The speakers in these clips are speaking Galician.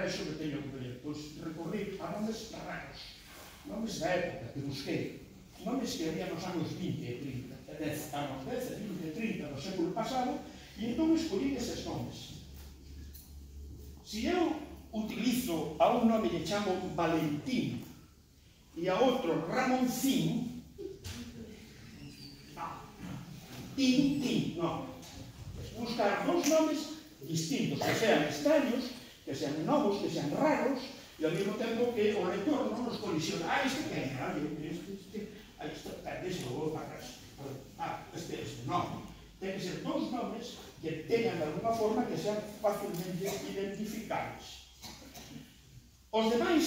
vexo que teño que coller? Pois recorri a nomes raros, nomes da época que busquei, nomes que había nos anos 20 e 30, anos 10, 20 e 30 do século pasado, e entón escollí eses nomes. Se eu utilizo a un nome que chamo Valentín e a outro Ramoncín, non. Buscar dous nomes distintos, que sean extraños, que sean novos, que sean raros, e ao mesmo tempo que o lector non nos colisiona. Este que é, este perdese o vou para casa. Este non. Ten que ser dous nomes que teñan de alguna forma que sean fácilmente identificables. Os demais,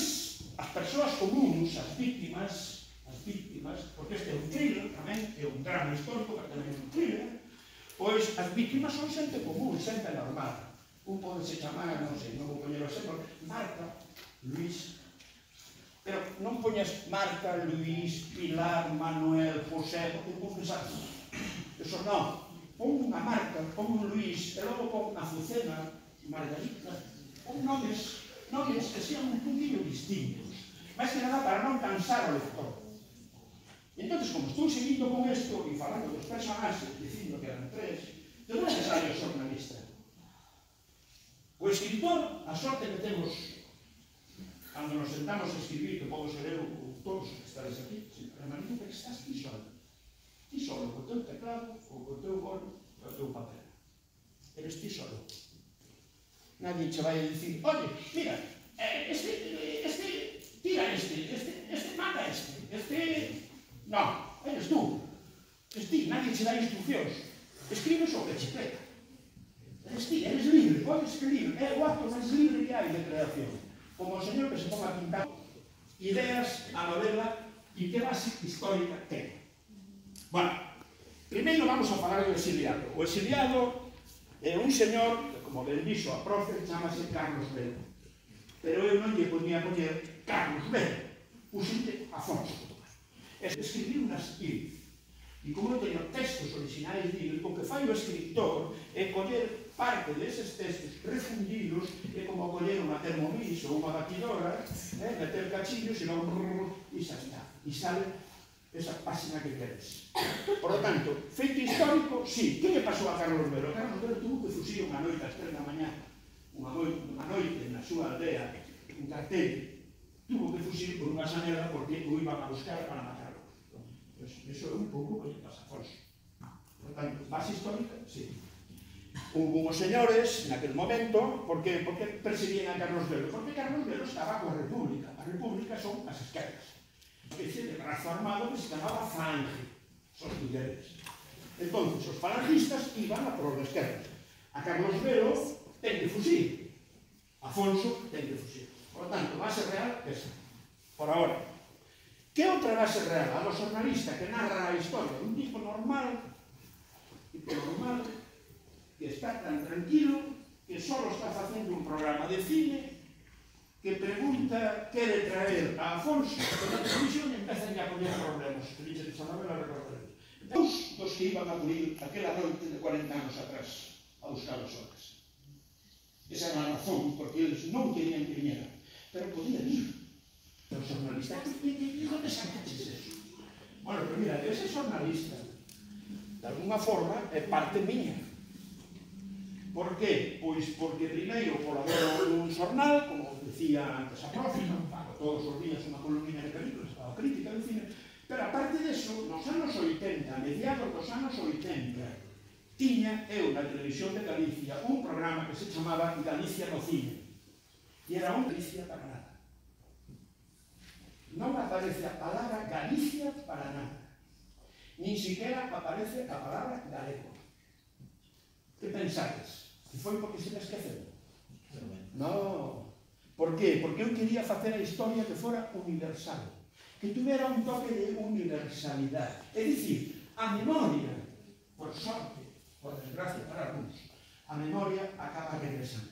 as persoas comuns, as víctimas, porque este é un thriller tamén, é un drama histórico, pero tamén é un thriller, pois as víctimas son xente común, xente normal. Un pode se chamar, non sei, non vou poñer o exemplo, Marta, Luís, pero non poñas Marta, Luís, Pilar, Manuel, José, porque non pensar, eso non. Pon unha Marta, pon un Luís, e logo pon a Azucena, Margarita, pon nomes que sean un poquinho distintos, máis que nada para non cansar o lector. Entón, como estou seguindo con isto e falando dos personaxes, dicindo que eran tres, de non é necesario o xornalista. O escritor, a sorte que temos, cando nos sentamos a escribir, que podo ser eu ou todos que estades aquí, permanente que estás ti solo. Ti solo, co teu teclado, ou co teu bolo, ou co teu papel. Eres ti solo. Nadie che vai a dicir, oye, mira, tira este, mata este... Non, eres tú. Eres ti, nadie che dá instruccións. Escribes o que che pega. Eres ti, eres libre, podes escribir. É o acto máis libre que hai de creación. Como o señor que se ponga a pintar ideas a novela e que base histórica ten. Bueno, primeiro vamos a falar do exiliado. O exiliado é un señor que, como ben dixo a profe, chamase Carlos Velo. Pero eu non lle podía poñer Carlos Velo. Pusite Afonso. Escribir un esquilo. E como eu teño textos originais dele, o que fai o escritor é coller parte deses textos refundidos, é como coller unha Thermomix ou unha batidora, meter cachillos e logo e xa está. E sale esa página que queres. Por lo tanto, feito histórico, sí. Que lle pasou a Carlos Velo? Carlos Velo tuvo que fuxir unha noite ás 3 da mañá, unha noite na súa aldea, un cartel, tuvo que fuxir por unha xanela porque o iban a buscar para matar. Eso é un pouco o que pasa a Afonso. Por tanto, base histórica, sí. Hubo uns señores, naquele momento, porque perseguían a Carlos Velo? Porque Carlos Velo estaba coa República. A República son as esquerdas. Unha especie de brazo armado que se chamaba Falange. Son mulleres. Entón, os falangistas iban a por a esquerda. A Carlos Velo ten que fuxir. Afonso ten que fuxir. Por tanto, base real, esa. Por ahora. Que outra base real? A do xornalista que narra a historia. Un tipo normal, que está tan tranquilo, que só está facendo un programa de cine, que pregunta, quere traer a Afonso na televisión e empezan a poñer problemas. Que dixe esa novela recordaré. Dos que iban a morir aquela noite de 40 anos atrás a buscar as horas. Esa era a razón, porque eles non querían que viñera. Pero podían ir. O xornalista, onde sacaches eso? Bueno, pero mira, ese xornalista, de alguna forma, é parte miña. Por qué? Pois porque primeiro colaboro nun xornal, como decía antes a profe, pago todos os días unha columna de películas, a crítica de cine, pero aparte deso, nos anos 80, a mediados dos anos 80, tiña eu na televisión de Galicia un programa que se chamaba Galicia no cine. E era un Galicia para nada. Non aparece a palabra Galicia para nada. Nin siquiera aparece a palabra galego. Que pensades? Que foi porque se me esqueceu? Non. Por qué? Porque eu quería facer a historia que fora universal. Que tuvera un toque de universalidade. É dicir, a memoria, por sorte, por desgracia para algúns, a memoria acaba regresando.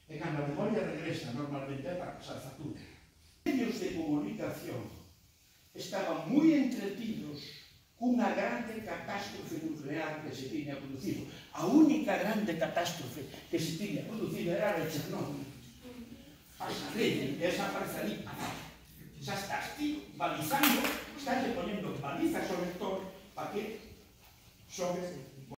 E cando a memoria regresa, normalmente é para pasar factura. Os medios de comunicación estaban moi entretidos cunha grande catástrofe nuclear que se tiña producido. A única grande catástrofe que se tiña producido era a de Chernóbil. rede, e esa aparece ali. Xa estás ti balizando, estás poniendo balizas sobre todo para que sobre